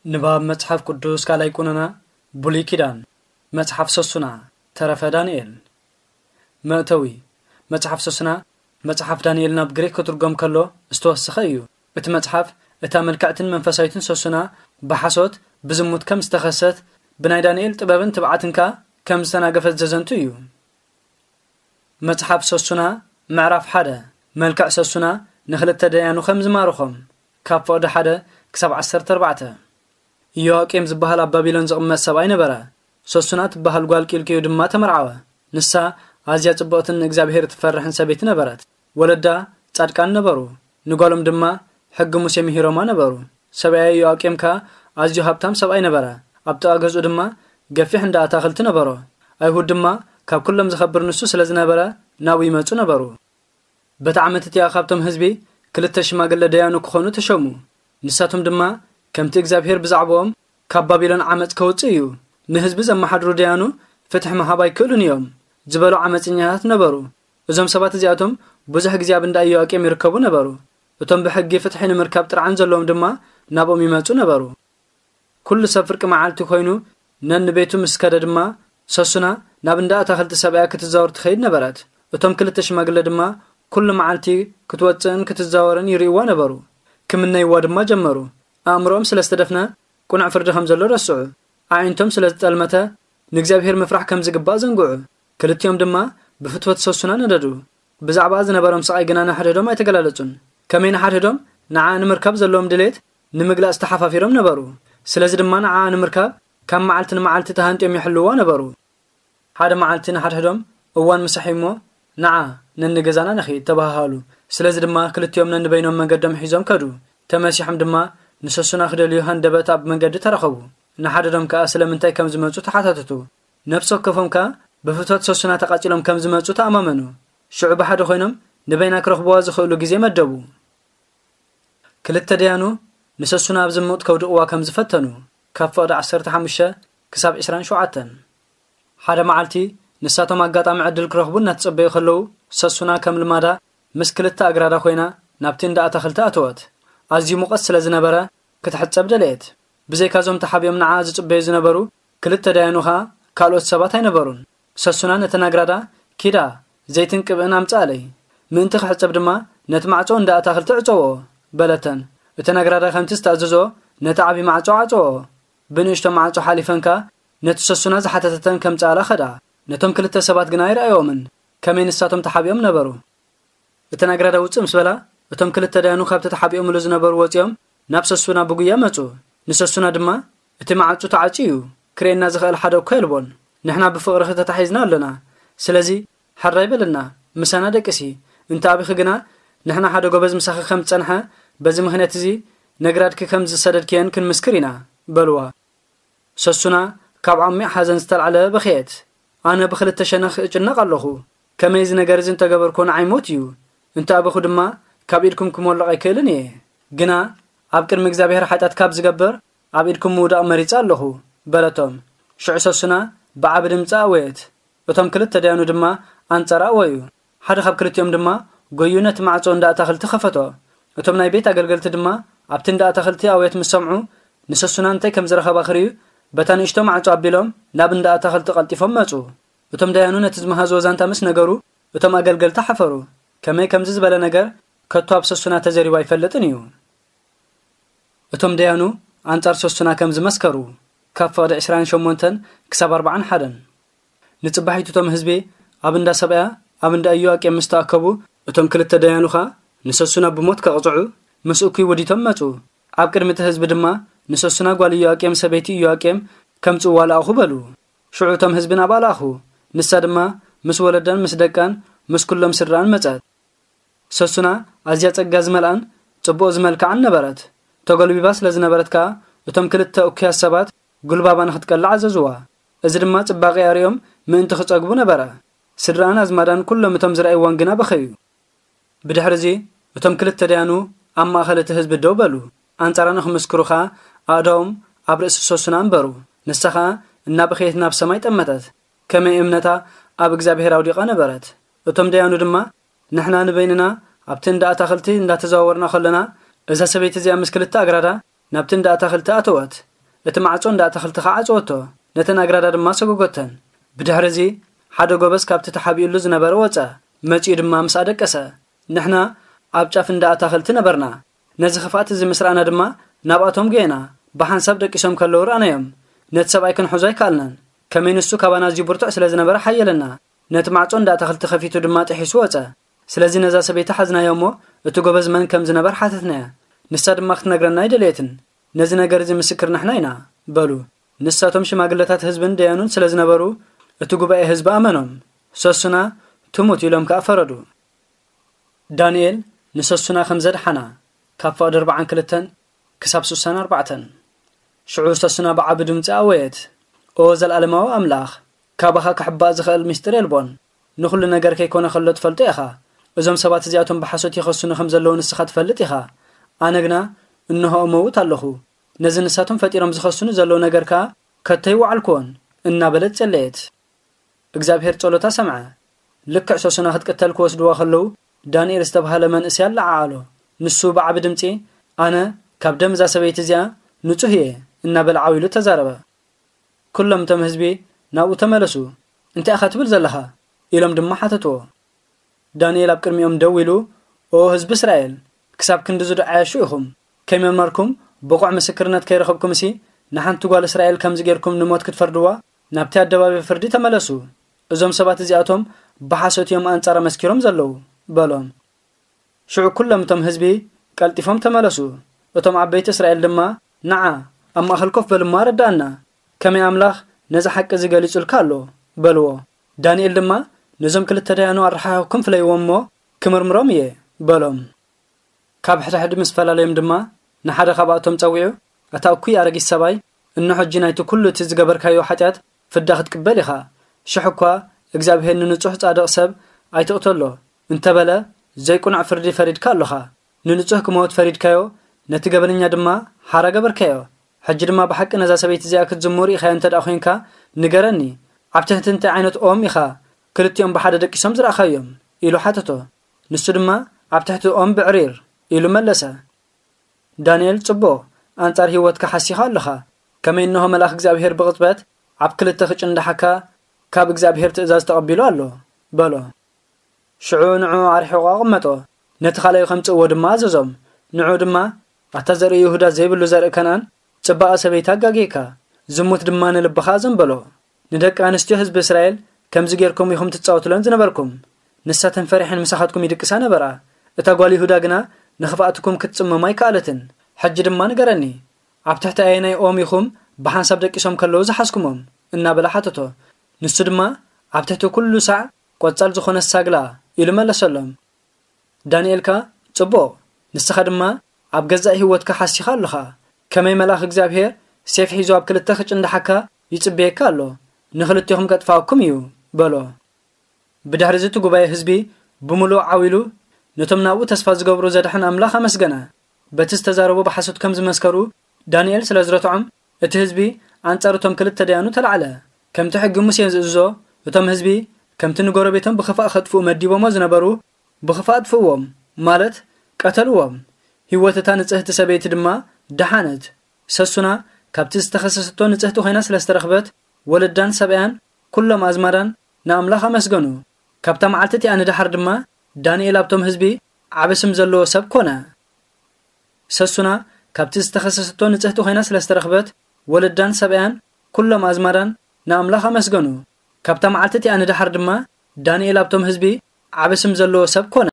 ንባብ መጽሓፍ ቅዱስ ካልኣይ ቁነና፣ ብሉይ ኪዳን፣ መጽሓፍ ሰሱና፣ ተረፈ ዳንኤል። መእተዊ፣ መጽሓፍ ሰሱና፣ መጽሓፍ ዳንኤል ናብ ግሪክ ክትርጎም ከሎ ዝተወሰኸ እዩ። እቲ መጽሓፍ እታ ምልክዕትን መንፈሳዊትን ሰሱና ብሓሶት፣ ብዝሙት ከም ዝተኸሰት፣ ብናይ ዳንኤል ጥበብን ትብዓትን ከኣ ከም ዝተናገፈት ዘዘንቱ እዩ። መጽሓፍ ሰሱና፣ ምዕራፍ ሓደ። መልክዕ ሰሱና ንኽልተ ደያኑ ከም ዝማርኾም፣ ካብ ፍቕዲ ሓደ ክሳብ ዓሰርተ ኣርባዕተ። ኢዮኣቄም ዝበሃል ኣብ ባቢሎን ዝቕመጥ ሰብኣይ ነበረ። ሰሱና ትበሃል ጓል ቂልቅዩ ድማ ተመርዓወ። ንሳ ኣዝያ ጽብቕትን ንእግዚኣብሔር ትፈርሕን ሰበይቲ ነበረት። ወለዳ ጻድቃን ነበሩ። ንጓሎም ድማ ሕጊ ሙሴ ምሂሮማ ነበሩ። ሰብኣያ ኢዮኣቄም ከኣ ኣዝዩ ሃብታም ሰብኣይ ነበረ። ኣብ ጥቓ ገዝኡ ድማ ገፊሕ እንዳ ኣታኽልቲ ነበሮ። ኣይሁድ ድማ ካብ ኩሎም ዝኸብር ንሱ ስለ ዝነበረ ናብኡ ይመጹ ነበሩ። በቲ ዓመት እቲኣ ካብቶም ህዝቢ ክልተ ሽማግለ ደያኑ ክኾኑ ተሸሙ። ንሳቶም ድማ ከምቲ እግዚኣብሔር ብዛዕባኦም ካብ ባቢሎን ዓመጽ ከውጽእ እዩ፣ ንህዝቢ ዘመሓድሩ ደያኑ ፍትሒ ምሃብ ኣይክእሉን እዮም ዝበሉ ዓመጽኛታት ነበሩ። እዞም ሰባት እዚኣቶም ብዙሕ ግዜ ኣብ እንዳ ኢዮኣቄም ይርከቡ ነበሩ። እቶም ብሕጊ ፍትሒ ንምርካብ ጥርዓን ዘለዎም ድማ ናብኦም ይመጹ ነበሩ። ኩሉ ሰብ ፍርቂ መዓልቲ ኮይኑ ነንቤቱ ምስ ከደ ድማ፣ ሰሱና ናብ እንዳ ኣታኽልቲ ሰብኣያ ክትዛወር ትኸይድ ነበረት። እቶም ክልተ ሽማግለ ድማ ኩሉ መዓልቲ ክትወጽእን ክትዛወርን ይርእይዋ ነበሩ። ክምነይዋ ድማ ጀመሩ። ኣእምሮኦም ስለ ዝተደፍነ ቁኑዕ ፍርዲ ከም ዘሎ ረስዑ። ኣዒንቶም ስለ ዝጠልመተ ንእግዚኣብሔር ምፍራሕ ከም ዝግባእ ዘንግዑ። ክልቲኦም ድማ ብፍትወት ሰሱና ነደዱ። ብዛዕባኣ ዝነበሮም ስቓይ ግና ንሓድሕዶም ኣይተገላለጹን። ከመይ ንሓድሕዶም ንዓኣ ንምርካብ ዘለዎም ድሌት ንምግላጽ ተሓፋፊሮም ነበሩ። ስለዚ ድማ ንዓኣ ንምርካብ ካብ መዓልቲ ንመዓልቲ ተሃንጥዮም ይሕልውዋ ነበሩ። ሓደ መዓልቲ ንሓድሕዶም፣ "እዋን ምሳሕ እዩ'ሞ ንዓ ነንገዛና ንኺድ" ተባሃሃሉ። ስለዚ ድማ ክልቲኦም ነንበይኖም መንገዶም ሒዞም ከዱ። ተመሲሖም ድማ ንሰሱና ክደልዩ ሃንደበት ኣብ መንገዲ ተራኸቡ። ንሓድሕዶም ከኣ ስለምንታይ ከም ዝመጹ ተሓታተቱ። ነፍሲ ወከፎም ከኣ ብፍትወት ሰሱና ተቓጺሎም ከም ዝመጹ ተኣማመኑ። ሽዑ ብሓደ ኮይኖም ንበይና ክረኽብዋ ዝኽእሉ ግዜ መደቡ። ክልተ ደያኑ ንሰሱና ኣብ ዝሙት ከውድቕዋ ከም ዝፈተኑ፣ ካብ ፍቕዲ ዓሰርተ ሓሙሽተ ክሳብ ዕስራን ሸውዓተን። ሓደ መዓልቲ ንሳቶም ኣጋጣሚ ዕድል ክረኽቡ እናተጸበዩ ከለዉ፣ ሰሱና ከም ልማዳ ምስ ክልተ ኣግራዳ ኮይና ናብቲ እንዳ ኣታኽልቲ ኣተወት። ኣዝዩ ሙቐት ስለ ዝነበረ ክትሕጸብ ደለየት። ብዘይካዞም ተሓቢኦም ንዓ ዝጽበዩ ዝነበሩ ክልተ ደያኑ ኸኣ ካልኦት ሰባት ኣይነበሩን። ሰሱና ነተን ኣግራዳ፣ "ኪዳ፣ ዘይትን ቅብእን ኣምጽኣለይ፣ ምእንቲ ክሕጸብ ድማ ነቲ ማዕጾ እንዳ ኣታኽልቲ ዕጸዎ" በለተን። እተን ኣግራዳ ከምቲ ዝተኣዘዞ ነቲ ዓቢ ማዕጾ ዓጸዎ። ብንእሽቶ ማዕጾ ሓሊፈን ከኣ ነቲ ሰሱና ዝሓተተተን ከምጽኣላ ኸዳ። ነቶም ክልተ ሰባት ግና ኣይረኣዮምን፣ ከመይ ንሳቶም ተሓቢኦም ነበሩ። እተን ኣግራዳ ውጽእ ምስ በላ፣ እቶም ክልተ ደያኑ ካብቲ ተሓቢኦምሉ ዝነበሩ ወጺኦም ናብ ሰሱና ብጉያ መጹ። ንሰሱና ድማ፣ "እቲ ማዕጹ ተዓጽዩ እዩ፣ ክርእየና ዝኽእል ሓደ እኳ የልቦን። ንሕና ብፍቕርኺ ተታሒዝና ኣሎና። ስለዚ ሕራይ በለና፣ ምሳና ደቅሲ። እንተ ኣቢኺ ግና ንሕና ሓደ ጎበዝ ምሳኺ ከም ዝጸንሐ፣ በዚ ምኽንያት እዚ ነግራድኪ ከም ዝሰደድክየን ክንምስክር ኢና" በልዋ። ሰሱና ካብ ዓሚቕ ሓዘን ዝተላዕለ በኸየት። "ኣነ ብኽልተ ሸነኽ እጭነቕ ኣለኹ። ከመይ እዚ ነገር እዚ እንተገበርኩ ንዓይ ሞት እዩ። እንተ ኣበኹ ድማ ካብ ኢድኩም ክሞልቕ ኣይክእልን እየ። ግና ኣብ ቅድሚ እግዚኣብሔር ሓጢኣት ካብ ዝገብር ኣብ ኢድኩም ምውዳቕ መሪጸ ኣለኹ" በለቶም። ሽዑ ሰሱና ብዓቢ ድምጺ ኣወየት። እቶም ክልተ ደያኑ ድማ ኣንጻራ ኣወዩ። ሓደ ካብ ክልቲኦም ድማ ጎዩ ነቲ ማዕጾ እንዳ ኣታኽልቲ ከፈቶ። እቶም ናይ ቤት ኣገልገልቲ ድማ ኣብቲ እንዳ ኣታኽልቲ ኣውየት ምስ ሰምዑ፣ ንሰሱና እንታይ ከም ዝረኸባ ክርእዩ፣ በታ ንእሽቶ ማዕጾ ኣቢሎም ናብ እንዳ ኣታኽልቲ ቀልጢፎም መጹ። እቶም ደያኑ ነቲ ዝመሃዝዎ ዛንታ ምስ ነገሩ፣ እቶም ኣገልገልቲ ሓፈሩ። ከመይ ከምዚ ዝበለ ነገር ከቶ ኣብ ሰሱና ተዘሪቡ ኣይፈልጥን እዩ። እቶም ደያኑ ኣንጻር ሰሱና ከም ዝመስከሩ፣ ካብ ፍቕዲ ዕስራን ሸሞንተን ክሳብ ኣርባዓን ሓደን። ንጽባሒቱ እቶም ህዝቢ ኣብ እንዳ ሰብኣያ፣ ኣብ እንዳ ኢዮኣቄም ምስ ተኣከቡ፣ እቶም ክልተ ደያኑ ኸኣ ንሰሱና ብሞት ከቕጽዑ ምስ እኩይ ውዲቶም መጹ። ኣብ ቅድሚ እቲ ህዝቢ ድማ፣ "ንሰሱና ጓል ኢዮኣቄም ሰበይቲ ኢዮኣቄም ከምጽእዋ ለኣኹ" በሉ። ሽዑ እቶም ህዝቢ ናብኣ ለኣኹ። ንሳ ድማ ምስ ወለዳን ምስ ደቃን ምስ ኩሎም ስድራኣን መጸት። ሰሱና ኣዝያ ጸጋ ዝመልኣን ጽቡቕ ዝመልክዓን ነበረት። ተጎልቢባ ስለ ዝነበረት ከኣ፣ እቶም ክልተ እኩያት ሰባት ጉልባባ ንኽትቀልዕ ኣዘዝዋ። እዚ ድማ ጽባቐኣ ርእዮም ምእንቲ ክጸግቡ ነበረ። ስድራኣን ኣዝማዳን ኩሎም እቶም ዝረኣይወን ግና በኸዩ። ብድሕሪ እዚ፣ እቶም ክልተ ደያኑ ኣብ ማእከል እቲ ህዝቢ ደው በሉ። ኣንጻራ ንኽምስክሩ ኸኣ፣ ኣእዳዎም ኣብ ርእሲ ሰሱና ኣንበሩ። ንሳ ኸኣ እናበኸየት ናብ ሰማይ ጠመተት። ከመይ እምነታ ኣብ እግዚኣብሔር ኣውዲቓ ነበረት። እቶም ደያኑ ድማ፣ "ንሕና ንበይንና ኣብቲ እንዳ ኣታኽልቲ እንዳተዘዋወርና ከለና፣ እዛ ሰበይቲ እዚኣ ምስ ክልተ ኣግራዳ ናብቲ እንዳ ኣታኽልቲ ኣተወት። እቲ ማዕጾ እንዳ ኣታኽልቲ ኸዓ ዓጸወቶ፣ ነተን ኣግራዳ ድማ ሰጎጎተን። ብድሕሪ እዚ ሓደ ጎበዝ ካብቲ ተሓቢኡሉ ዝነበረ ወጸ፣ መጺኡ ድማ ምስኣ ደቀሰ። ንሕና ኣብ ጫፍ እንዳ ኣታኽልቲ ነበርና። ነዚ ክፍኣት እዚ ምስ ረኣና ድማ ናብኣቶም ጌና፣ ብሓንሳብ ደቂሶም ከለዉ ረኣናዮም። ነቲ ሰብኣይ ክንሕዞ ኣይከኣልናን። ከመይ ንሱ ካባና ኣዝዩ ብርቱዕ ስለ ዝነበረ ሓየለና። ነቲ ማዕጾ እንዳ ኣታኽልቲ ከፊቱ ድማ ጥሒሱ ወጸ። ስለዚ ነዛ ሰበይቲ ሓዝናዮ እሞ እቲ ጎበዝ መን ከም ዝነበር ሓተትናያ። ንሳ ድማ ክትነግረና ኣይደለየትን። ነዚ ነገር እዚ ምስክር ንሕና ኢና በሉ። ንሳቶም ሽማግለታት ህዝብን ደያኑን ስለ ዝነበሩ እቲ ጉባኤ ህዝቢ ኣመኖም። ሰሱና ትሙት ኢሎም ከኣ ፈረዱ። ዳንኤል ንሰሱና ከም ዘድሓና ካብ ፍቕዲ ኣርብዓን ክልተን ክሳብ ስሳን ኣርባዕተን። ሽዑ ሰሱና ብዓቢ ድምጺ ኣወየት፣ "ኦ ዘልኣለማዊ ኣምላኽ፣ ካባኻ ክሕባእ ዝኽእል ምስጢር የልቦን። ንኹሉ ነገር ከይኮነ ከሎ ትፈልጦ ኢኻ። እዞም ሰባት እዚኣቶም ብሓሶት ይኸሱኒ ከም ዘለዉ ንስኻ ትፈልጥ ኢኻ። ኣነ ግና እንሆ እመውት ኣለኹ። ነዚ ንሳቶም ፈጢሮም ዝኸሱኒ ዘለዉ ነገር ከኣ ከቶ ኣይወዓልኩዎን" እናበለት ጸለየት። እግዚኣብሔር ጸሎታ ሰምዐ። ልክዕ ሰሱና ክትቅተል ክወስድዋ ከለዉ፣ ዳንኤል ዝተባህለ መንእሰይ ኣለዓዓሎ። ንሱ ብዓቢ ድምጺ፣ "ኣነ ካብ ደም እዛ ሰበይቲ እዚኣ ንጹህ እየ" እናበለ ዓው ኢሉ ተዛረበ። ኩሎም እቶም ህዝቢ ናብኡ ተመለሱ። "እንታይ ኢኻ ትብል ዘለኻ?" ኢሎም ድማ ሓተትዎ። ዳንኤል ኣብ ቅድሚኦም ደው ኢሉ፣ "ኦ ህዝቢ እስራኤል፣ ክሳብ ክንድዚ ዶ ዓያሹ ኢኹም? ከይመርመርኩም ብቑዕ ምስክርነት ከይረኸብኩምሲ፣ ንሓንቲ ጓል እስራኤል ከምዚ ጌርኩም ንሞት ክትፈርድዋ? ናብቲ ኣደባባይ ፍርዲ ተመለሱ። እዞም ሰባት እዚኣቶም ብሓሶት እዮም ኣንጻራ መስኪሮም ዘለዉ" በሎም። ሽዑ ኩሎም እቶም ህዝቢ ቀልጢፎም ተመለሱ። እቶም ዓበይቲ እስራኤል ድማ፣ "ንዓ፣ ኣብ ማእከል ኮፍ በል እሞ ኣረድኣና፣ ከመይ ኣምላኽ ነዚ ሓቂ እዚ ገሊጹልካ ኣሎ?" በልዎ። ዳንኤል ድማ፣ "ነዞም ክልተ ደያኑ ኣረሓሕኩም ፍለይዎም እሞ ክምርምሮም እየ" በሎም። ካብ ሕድሕድ ምስ ፈላለዮም ድማ ንሓደ ካብኣቶም ጸዊዑ፣ "ኣታ እኩይ ኣረጊት ሰብኣይ፣ እንሆ ሕጂ ናይቲ ኩሉ እቲ ዝገበርካዮ ሓጢኣት ፍዳ ክትቅበል ኢኻ። ሽሕ እኳ እግዚኣብሄር ንንጹሕ ጻድቕ ሰብ ኣይትቕተሎ እንተበለ፣ ዘይቅኑዕ ፍርዲ ፈሪድካ ኣሎኻ። ንንጹህ ክመውት ፈሪድካዮ፣ ነቲ ገበነኛ ድማ ሓራ ገበርካዮ። ሕጂ ድማ ብሓቂ ነዛ ሰበይቲ እዚኣ ክትዝሙ ርኢኻዮ እንተ ደኣ ኾይንካ፣ ንገረኒ፣ ኣብ ትሕቲ እንታይ ዓይነት ኦም ኢኻ ክልቲኦም ብሓደ ደቂሶም ዝረኣኻዮም?" ኢሉ ሓተቶ። ንሱ ድማ፣ "ኣብ ትሕቲ ኦም ብዕሪር" ኢሉ መለሰ። ዳንኤል፣ "ጽቡቕ፣ ኣንጻር ህይወትካ ሓሲኻ ኣለኻ። ከመይ እንሆ መልኣኽ እግዚኣብሄር ብቕጽበት ኣብ ክልተ ክጭንዳሓካ ካብ እግዚኣብሄር ትእዛዝ ተቐቢሉ ኣሎ" በሎ። ሽዑ ንዕኡ ኣርሒቑ ኣቐመጦ። ነቲ ካልኣዩ ከምጽእዎ ድማ ኣዘዞም። ንዕኡ ድማ፣ "ኣታ ዘርኢ ይሁዳ ዘይብሉ ዘርኢ ከነኣን፣ ጽባቐ ሰበይቲ ኣጋጊእካ፣ ዝሙት ድማ ንልብኻ ኣዘንበሎ። ንደቂ ኣንስትዮ ህዝቢ እስራኤል ከምዚ ጌርኩም ኢኹም ትጻወቱለን ዝነበርኩም። ንሳተን ፈሪሐን ምሳኻትኩም ይድቅሳ ነበራ። እታ ጓል ይሁዳ ግና ንኽፍኣትኩም ክትጽመም ኣይከኣለትን። ሕጂ ድማ ንገረኒ፣ ኣብ ትሕቲ ኣየናይ ኦም ኢኹም ብሓንሳብ ደቂሶም ከለዉ ዝሓዝኩሞም?" እናበለ ሓተቶ። ንሱ ድማ፣ "ኣብ ትሕቲ ኩሉ ሳዕ ቆጻል ዝኾነት ሳግላ" ኢሉ መለሰሎም። ዳንኤል ከኣ፣ "ጽቡቕ፣ ንስኻ ድማ ኣብ ገዛእ ህይወትካ ሓሲኻ ኣለኻ። ከመይ መልኣኽ እግዚኣብሄር ሴፍ ሒዙ ኣብ ክልተ ክጭንድሓካ ይጽበየካ ኣሎ፣ ንኽልቴኹም ከጥፍኣኩም እዩ" በሎ። ብድሕሪ እዚ እቲ ጉባኤ ህዝቢ ብምሉኡ ዓው ኢሉ ነቶም ናብኡ ተስፋ ዝገብሩ ዘድሕን ኣምላኽ ኣመስገነ። በቲ ዝተዛረቡ ብሓሶት ከም ዝመስከሩ ዳንኤል ስለ ዝረትዖም፣ እቲ ህዝቢ ኣንጻር እቶም ክልተ ደያኑ ተላዕለ። ከምቲ ሕጊ ሙሴ ዝእዝዞ፣ እቶም ህዝቢ ከምቲ ንጎረቤቶም ብኽፋእ ከጥፍኡ መዲቦሞ ዝነበሩ፣ ብኽፋእ ኣጥፍእዎም፣ ማለት ቀተልዎም። ህይወት እታ ንጽህቲ ሰበይቲ ድማ ደሓነት። ሰሱና ካብቲ ዝተኸሰሰቶ ንጽህቲ ኮይና ስለ ዝተረኽበት፣ ወለዳን ሰብኣያን ኩሎም ኣዝማዳን ንኣምላኽ ኣመስገኑ። ካብታ መዓልቲ እቲኣ ንደሓር ድማ ዳንኤል ኣብቶም ህዝቢ ዓቢ ስም ዘለዎ ሰብ ኮነ። ሰሱና ካብቲ ዝተኸሰሰቶ ንጽህቲ ኮይና ስለ ዝተረኽበት፣ ወለዳን ሰብኣያን ኩሎም ኣዝማዳን ንኣምላኽ ኣመስገኑ። ካብታ መዓልቲ እቲኣ ንደሓር ድማ ዳንኤል ኣብቶም ህዝቢ ዓቢ ስም ዘለዎ ሰብ ኮነ።